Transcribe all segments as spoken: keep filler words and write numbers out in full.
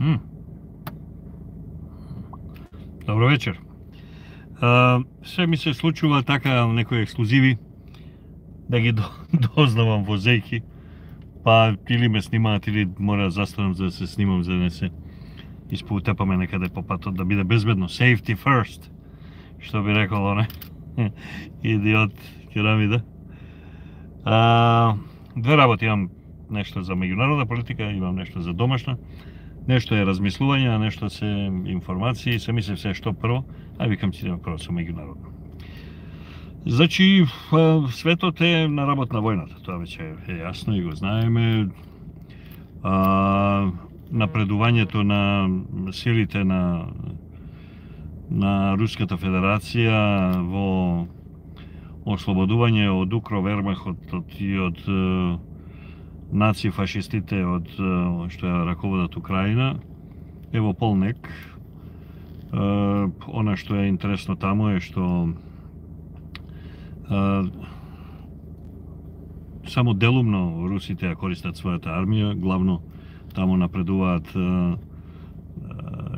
М. Добро вечер. А, се ми се случува така некои ексклузиви да ги дознавам возејки, па или ме снимаат или мора да застанам за да се снимам за да не се испоутепаме некаде по патот, да биде безбедно. Safety first, што би рекол оне идиот керамида. А, две работи имам, нешто за меѓународна политика, имам нешто за домашна. Нешто е размислување, а нешто се информации, се мисли се што прво, а викам ќе идеме прво со меѓународно. Значи, светот е на работ на војната, тоа веќе е јасно и го знаеме. А, напредувањето на силите на на Руската Федерација во ослободување од укро Вермахот и од наци фашистите од што ја раководат Украина е во полнек. Она што е интересно таму е што само делумно русите ја користат својата армија, главно таму напредуваат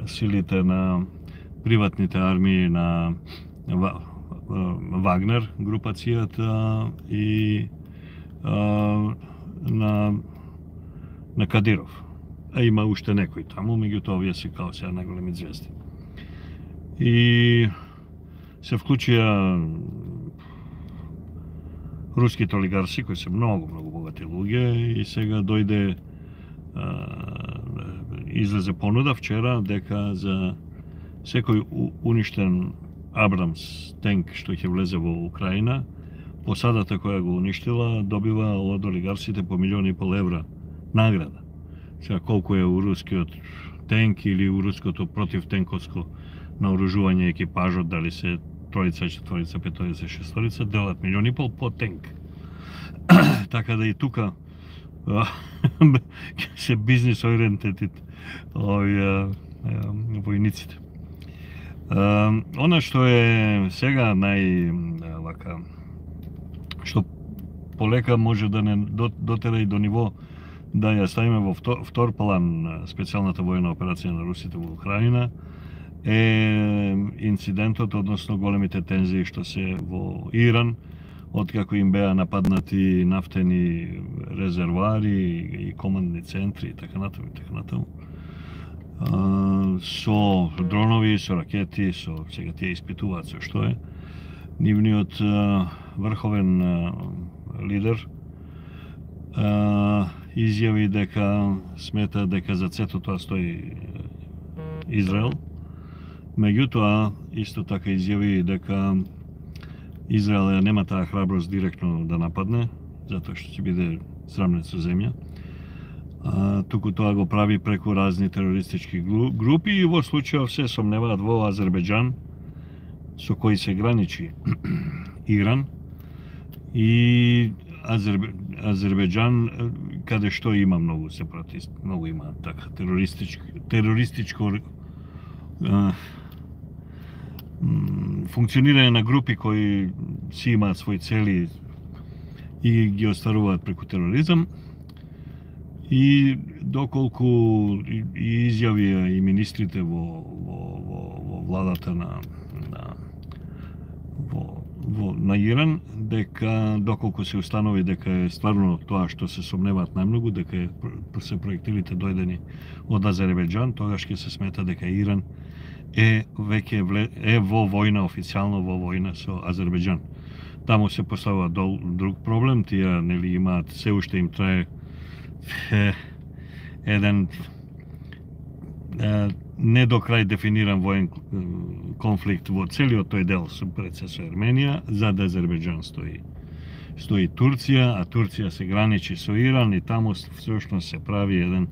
силите на приватните армии на Вагнер групацијата и на на Кадиров. А има уште некои таму, меѓутоа овие се као сега најголеми звезди. И се вклучија руските олигарси кои се многу многу богати луѓе и сега дојде излезе понуда вчера дека за секој уништен Абрамс тенк што ќе влезе во Украина, посадата која го уништила добива од олигарсите по милион и пол евра награда. Сега колку е у рускиот тенк или у руското противтенковско наоружување екипажот, дали се тројца, четворица, петорица, шесторица, делат милион и пол по тенк. Така да и тука се бизнес ориентетит овие војниците. Она што е сега нај вака што полека може да не дотера и до ниво да ја ставиме во втор, втор план специјалната војна операција на русите во Украина е инцидентот, односно големите тензии што се во Иран, откако им беа нападнати нафтени резервоари и командни центри и така натаму и така натаму. Со дронови, со ракети, со сега тие испитуваат со што е. Нивниот врховен лидер изјави дека смета дека за сето тоа стои Израел. Меѓутоа, исто така изјави дека Израел нема таа храброст директно да нападне, затоа што ќе биде срамнет со земја. А, туку тоа го прави преку разни терористички групи и во случајов се сомневаат во Азербејџан, со кој се граничи Иран, и Азербе... Азербејџан, каде што има многу сепаратисти, многу има така терористичко, терористичко а, функционирање на групи кои си имаат своји цели и ги остваруваат преку тероризам. И доколку и, и изјави и министрите во, во, во, во владата на, на во, во, на Иран, дека доколку се установи дека е стварно тоа што се сомневаат најмногу, дека е, се проектилите дојдени од Азербејџан, тогаш ќе се смета дека Иран е веќе вле, е во војна, официјално во војна со Азербејџан. Таму се поставува дол, друг проблем, тие нели имаат, се уште им трае е, еден е, не до крај дефиниран воен конфликт во целиот тој дел со преца со Ерменија, зад Азербејџан стои стои Турција, а Турција се граничи со Иран и таму всушност се прави еден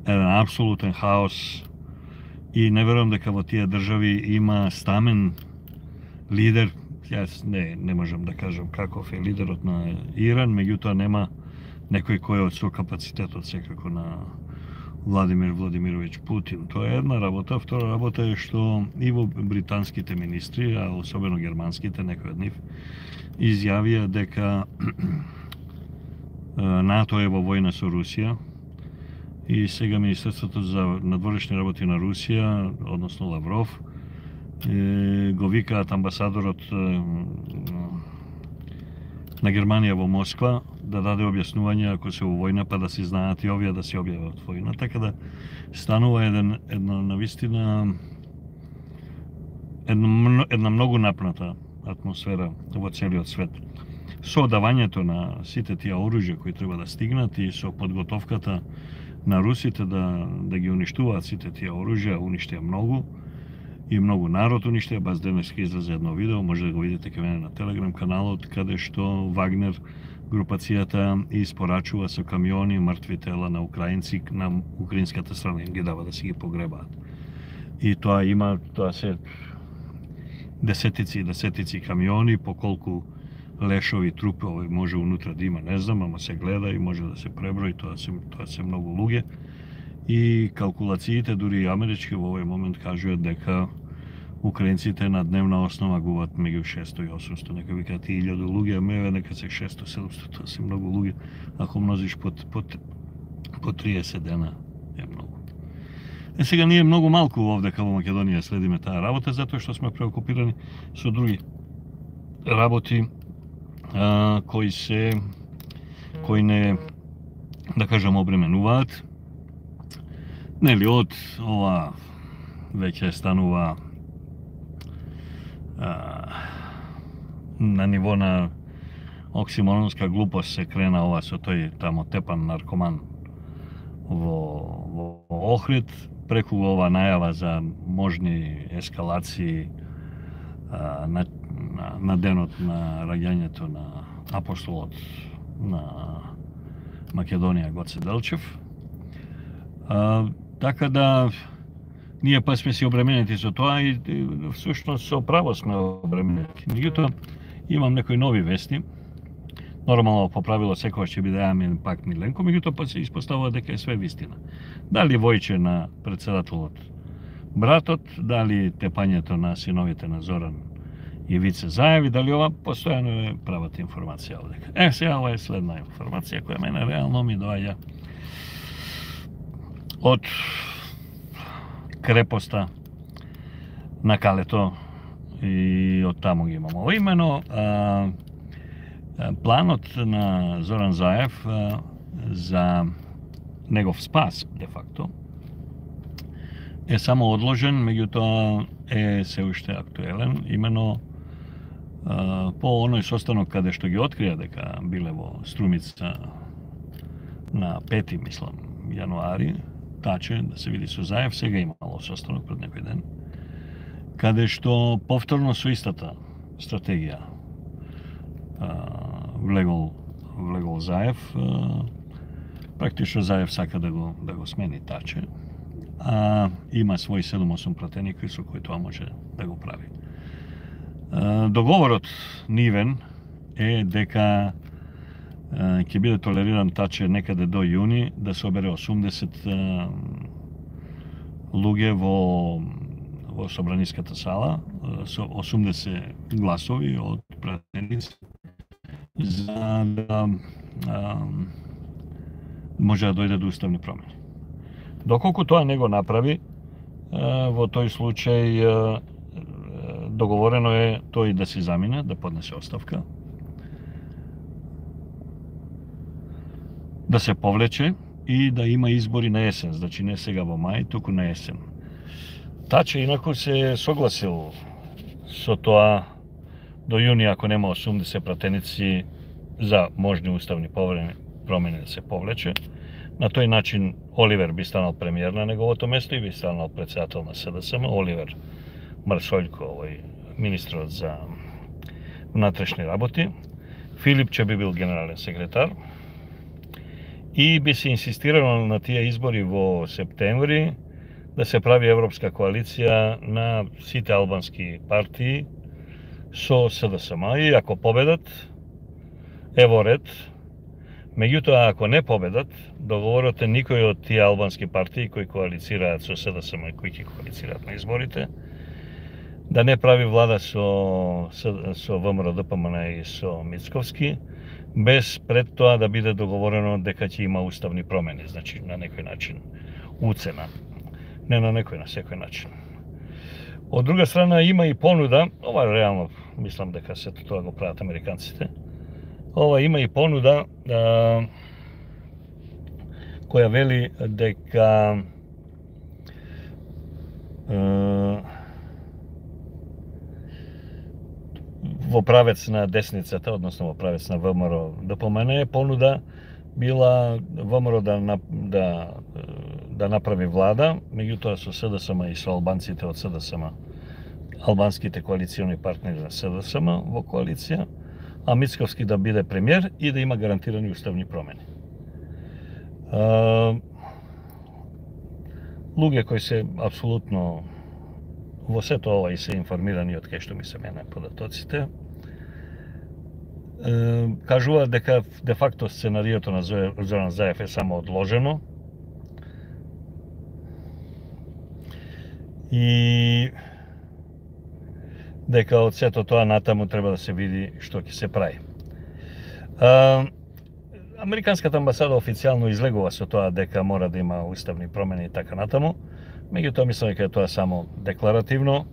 еден апсолутен хаос и не верувам дека во тие држави има стамен лидер. Јас не не можам да кажам каков е лидерот на Иран, меѓутоа нема некој кој е од со капацитетот секако на Владимир Владимировиќ Путин. Тоа е една работа. Втора работа е што и во британските министри, а особено германските, некои од нив, изјавија дека НАТО е во војна со Русија и сега Министерството за надворешни работи на Русија, односно Лавров, го викаат амбасадорот на Германија во Москва да даде објаснување ако се во војна, па да се знаат и овие да се објават војна. Така да станува еден, една навистина една, една многу напната атмосфера во целиот свет. Со давањето на сите тие оружја кои треба да стигнат и со подготовката на русите да, да ги уништуваат сите тие оружја, уништија многу, и многу народ уништија. Баш денес ќе излезе едно видео, може да го видите кај мене на Телеграм каналот, каде што Вагнер групацијата испорачува со камиони мртви тела на украинци на украинската страна, им ги дава да си ги погребаат. И тоа има, тоа се десетици и десетици камиони, по колку лешови, трупови може унутра да има, не знам, ама се гледа и може да се преброи, тоа се, тоа се многу луѓе. И калкулациите, дури и амерички, во овој момент кажуваат дека украинците на дневна основа губат меѓу шесто и осумсто, нека викаат и илјаду луѓе, а меве нека се шесто седумсто, тоа се многу луѓе. Ако множиш по, по, по триесет дена, е многу. Е, сега ние многу малку овде као во Македонија следиме таа работа, затоа што сме преокупирани со други работи а, кои се, кои не, да кажам, обременуваат. Нели, од ова веќе станува а, на ниво на оксиморонска глупост се крена ова со тој тамо тепан наркоман во, во Охрид, преку ова најава за можни ескалации а, на, на, на денот на раѓањето на апостолот на Македонија Гоце Делчев. А, така да ние па сме си обременети со тоа и, и всушност со право сме обременети. Меѓутоа имам некои нови вести. Нормално по правило секогаш ќе биде Амин пак Миленко, меѓутоа па се испоставува дека е све вистина. Дали војче на председателот братот, дали тепањето на синовите на Зоран и Вице Заеви, дали ова постојано е правата информација овдека. Е, сега ова е следна информација која мене реално ми доаѓа од крепоста на Калето и од таму ги имам. Ова имено а, планот на Зоран Заев а, за негов спас, де факто, е само одложен, меѓутоа е се уште актуелен, имено а, по оној состанок каде што ги открија дека биле во Струмица на пети, мислам, јануари, таче, да се види со Заев, сега имало состанок пред некој ден, каде што повторно со истата стратегија а, влегол, влегол Заев, а, практично Заев сака да го, да го смени таче, а има своји седум-осум пратеници со кои тоа може да го прави. А, договорот нивен е дека ќе биде толериран таче некаде до јуни да собере осумдесет луѓе во во собраниската сала со осумдесет гласови од пратеници за да а, може да дојде до уставни промени. Доколку тоа не го направи, во тој случај договорено е тој да се замине, да поднесе оставка, да се повлече и да има избори на есен, значи не сега во мај, туку на есен. Таче инаку се согласил со тоа до јуни, ако нема осумдесет пратеници за можни уставни промени да се повлече. На тој начин Оливер би станал премиер на неговото место и би станал председател на СДСМ. Оливер Марсољко, овој министрот за внатрешни работи. Филипче би бил генерален секретар. И би се инсистирало на тие избори во септември да се прави европска коалиција на сите албански партии со СДСМ. И ако победат, ево ред. Меѓутоа, ако не победат, договорот е никој од тие албански партии кои коалицираат со СДСМ и кои ќе коалицираат на изборите, да не прави влада со, со ВМРО ДПМН и со Мицковски, без пред тоа да биде договорено дека ќе има уставни промени, значи на некој начин уцена. Не на некој, на секој начин. Од друга страна има и понуда, ова реално мислам дека сето тоа го прават американците. Ова има и понуда а, која вели дека а, во правец на десницата, односно во правец на ВМРО ДПМН е понуда била ВМРО да, да, да направи влада, меѓутоа со СДСМ и со албанците од СДСМ, албанските коалициони партнери на СДСМ во коалиција, а Мицковски да биде премиер и да има гарантирани уставни промени. А, луѓе кои се апсолутно во сето ова и се информирани од кај што ми се мене податоците, кажуваат дека де факто сценариото на Зоран Заев е само одложено и дека од сето тоа натаму треба да се види што ќе се прави. А, Американската амбасада официјално излегува со тоа дека мора да има уставни промени и така натаму, меѓутоа мислам дека е тоа само декларативно,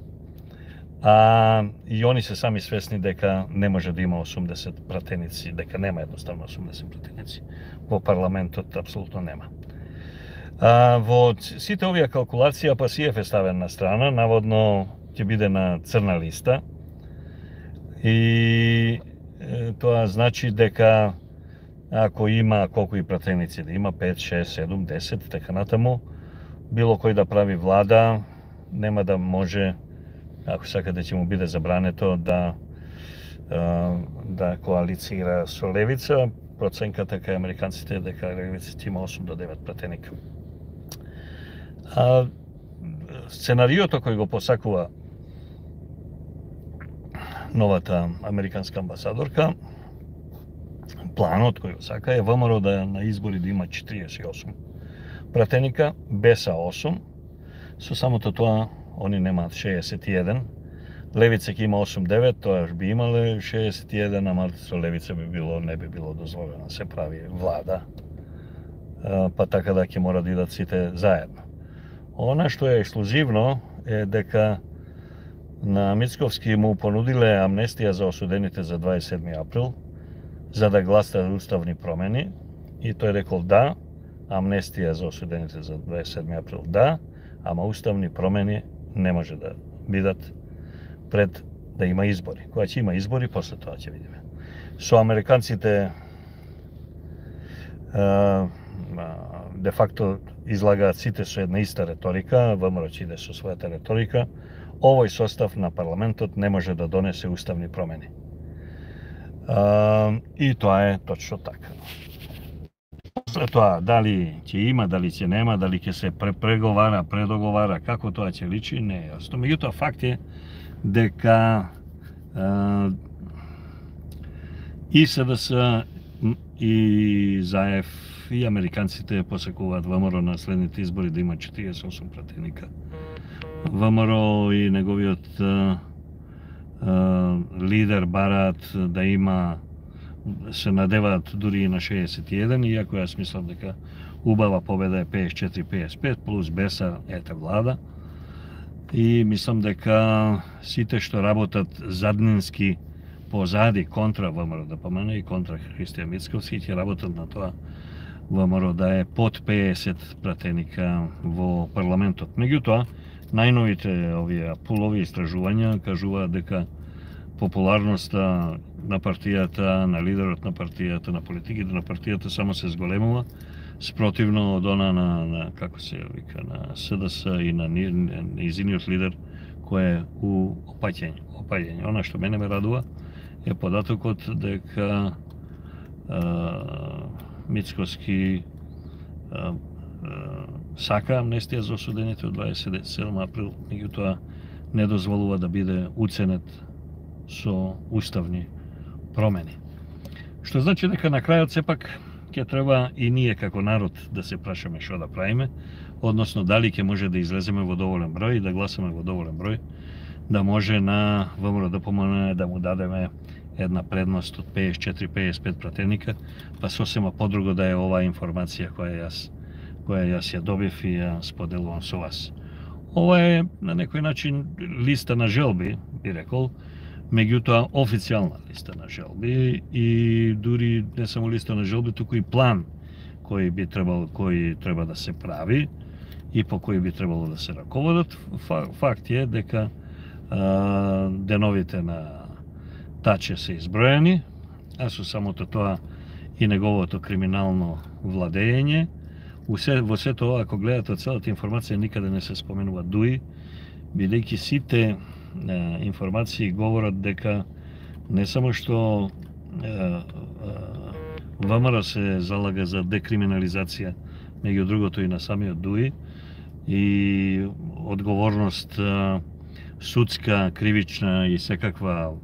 а и они се сами свесни дека не може да има осумдесет пратеници, дека нема едноставно осумдесет пратеници. Во парламентот апсолутно нема. А, во сите овие калкулација Пасиев е ставен на страна, наводно ќе биде на црна листа и е, тоа значи дека ако има колку и пратеници да има, пет, шест, седум, десет, така натаму, било кој да прави влада, нема да може, ако сака да ќе му биде забрането да да коалицира со левица. Проценката кај американците е дека левиците има осум до девет пратеника. А сценариото кој го посакува новата американска амбасадорка, планот кој го сака е ВМРО да на избори да има четириесет и осум пратеника, Беса осум, со самото тоа они немаат шеесет и еден, левица ќе има осум девет, тоа би имале шеесет и еден, ама со левица би било, не би било дозволено се прави влада, па така да ќе мора да идат сите заедно. Она што е ексклузивно е дека на Мицковски му понудиле амнестија за осудените за дваесет и седми април, за да гласа уставни промени, и тој рекол да, амнестија за осудените за дваесет и седми април да, ама уставни промени не може да бидат пред да има избори. Кога ќе има избори, после тоа ќе видиме. Со американците де факто излагаат сите со една иста реторика, ВМРО ќе иде со својата реторика, овој состав на парламентот не може да донесе уставни промени. И тоа е точно така. После тоа, дали ќе има, дали ќе нема, дали ќе се преговара, предоговара, како тоа ќе личи, не е јасно. Меѓутоа, факт е дека а, и СДС, и Заев, и американците посекуваат ВМРО на следните избори да има четириесет и осум пратеника. ВМРО и неговиот а, а, лидер бараат да има, се надеваат дури и на шеесет и еден, иако јас мислам дека убава победа е пеесет и четири пеесет и пет, плюс Беса ете влада. И мислам дека сите што работат заднински позади контра ВМРО ДПМН и контра Христијан Мицковски ќе работат на тоа ВМРО да е под пеесет пратеника во парламентот. Меѓутоа, најновите овие пулови истражувања кажуваат дека популарноста на партијата, на лидерот на партијата, на политиките на партијата само се зголемува, спротивно од она на, на како се вика, на СДС и на нејзиниот лидер кој е у опаѓање. Опаѓање. Она што мене ме радува е податокот дека а, Мицковски а, а, сака амнестија за осудените од дваесет и седми април, меѓутоа не дозволува да биде уценет со уставни промени. Што значи дека на крајот сепак ќе треба и ние како народ да се прашаме што да правиме, односно дали ќе може да излеземе во доволен број и да гласаме во доволен број, да може на ВМРО ДПМН да му дадеме една предност од пеесет и четири до пеесет и пет пратеника, па сосема подруго да е оваа информација која јас која јас ја добив и ја споделувам со вас. Ова е на некој начин листа на желби, би рекол, меѓутоа официјална листа на желби и дури не само листа на желби, туку и план кој би требало, кој треба да се прави и по кој би требало да се раководат. Факт е дека а, деновите на Таче се изброени, а со самото тоа и неговото криминално владење. Во сето ова, ако гледате целата информација, никаде не се споменува Дуи, бидејќи сите е, информации говорат дека не само што е, е, ВМРО се залага за декриминализација, меѓу другото и на самиот Дуи, и одговорност е, судска, кривична и секаква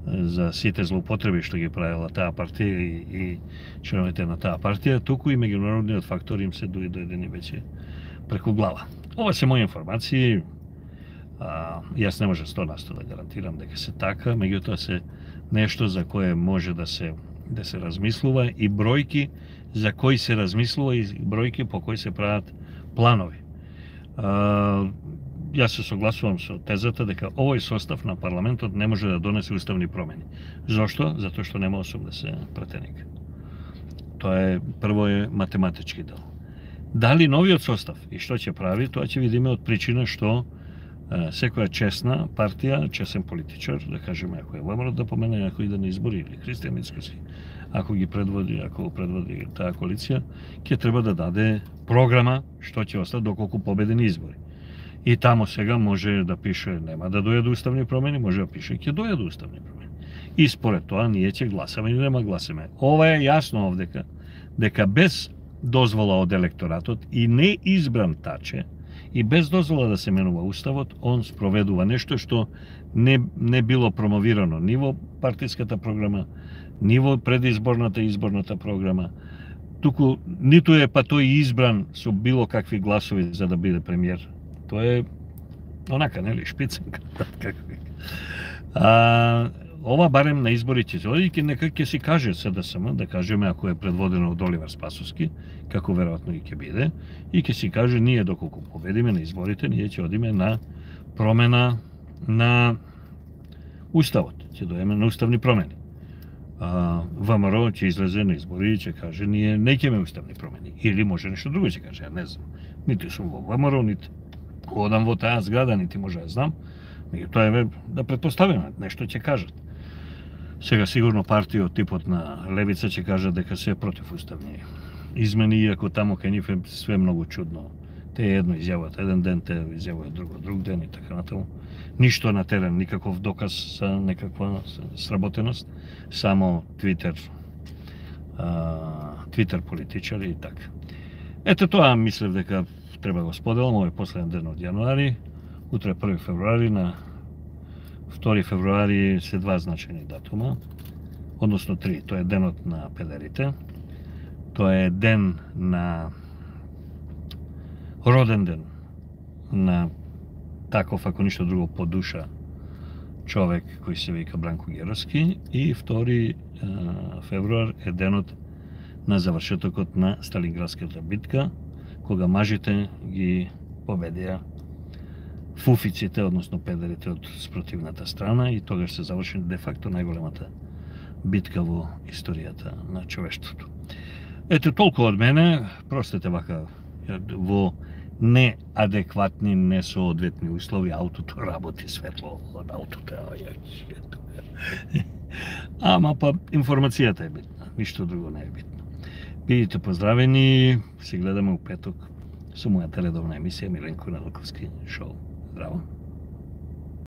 за сите злоупотреби што ги правила таа партија и, и членовите на таа партија, туку и меѓународниот фактор им се дуи дојдени веќе преку глава. Ова се мои информации. А, јас не може сто на сто да гарантирам дека се така, меѓутоа се нешто за кое може да се да се размислува и бројки за кои се размислува и бројки по кои се прават планови. А, Јас се согласувам со тезата дека овој состав на парламентот не може да донесе уставни промени. Зошто? Затоа што нема осумдесет пратеника. Тоа е прво е математички дел. Дали новиот состав и што ќе прави, тоа ќе видиме од причина што е, секоја честна партија, честен политичар, да кажеме, ако е ВМРО да помене, ако иде на избори или Христијан Мицкоски, ако ги предводи, ако предводи таа коалиција, ќе треба да даде програма што ќе остане доколку победени избори. И тамо сега може да пише нема да дојде уставни промени, може да пише ќе дојде уставни промени. И според тоа ние ќе гласаме или нема гласаме. Ова е јасно овдека, дека без дозвола од електоратот и не избран Таче, и без дозвола да се менува уставот, он спроведува нешто што не, не било промовирано ни во партиската програма, ни во предизборната и изборната програма, туку ниту е па тој избран со било какви гласови за да биде премиер. Тоа е онака, нели, шпиценка. А, ова барем на изборите ќе оди, нека ќе си каже СДСМ, да кажеме ако е предводено од Оливер Спасовски, како веројатно и ќе биде, и ќе си каже ние доколку победиме на изборите, ние ќе одиме на промена на уставот, ќе доеме на уставни промени. А, ВМРО ќе излезе на избори и ќе каже ние не ќе имаме уставни промени, или може нешто друго ќе каже, ја не знам. Нити сум во ВМРО, нити одам во таа зграда, нити може да знам, меѓутоа еве да претпоставиме, нешто ќе кажат. Сега сигурно партија од типот на Левица ќе кажат дека се е против уставни измени, иако тамо кај нив е све многу чудно. Те едно изјават еден ден, те изјавуваат друго друг ден и така натаму. Ништо на терен, никаков доказ за некаква сработеност, само Твитер, Твитер политичари и така. Ето тоа мислев дека треба го споделам, овој последен ден од јануари, утре први февруари, на втори февруари се два значајни датума, односно три, тоа е денот на педерите, тоа е ден на роден ден на таков, ако ништо друго, по душа човек кој се вика Бранко Геровски, и втори февруар е денот на завршетокот на Сталинградската битка, кога мажите ги победија фуфиците, односно педерите од спротивната страна, и тогаш се заврши де факто најголемата битка во историјата на човештвото. Ето толку од мене, простете вака, во неадекватни, несоодветни услови, аутото работи, светло од аутото. Ама па информацијата е битна, ништо друго не е битно. Бидите поздравени, се гледаме у петок со мојата редовна емисија Миленко Неделковски шоу. Здраво!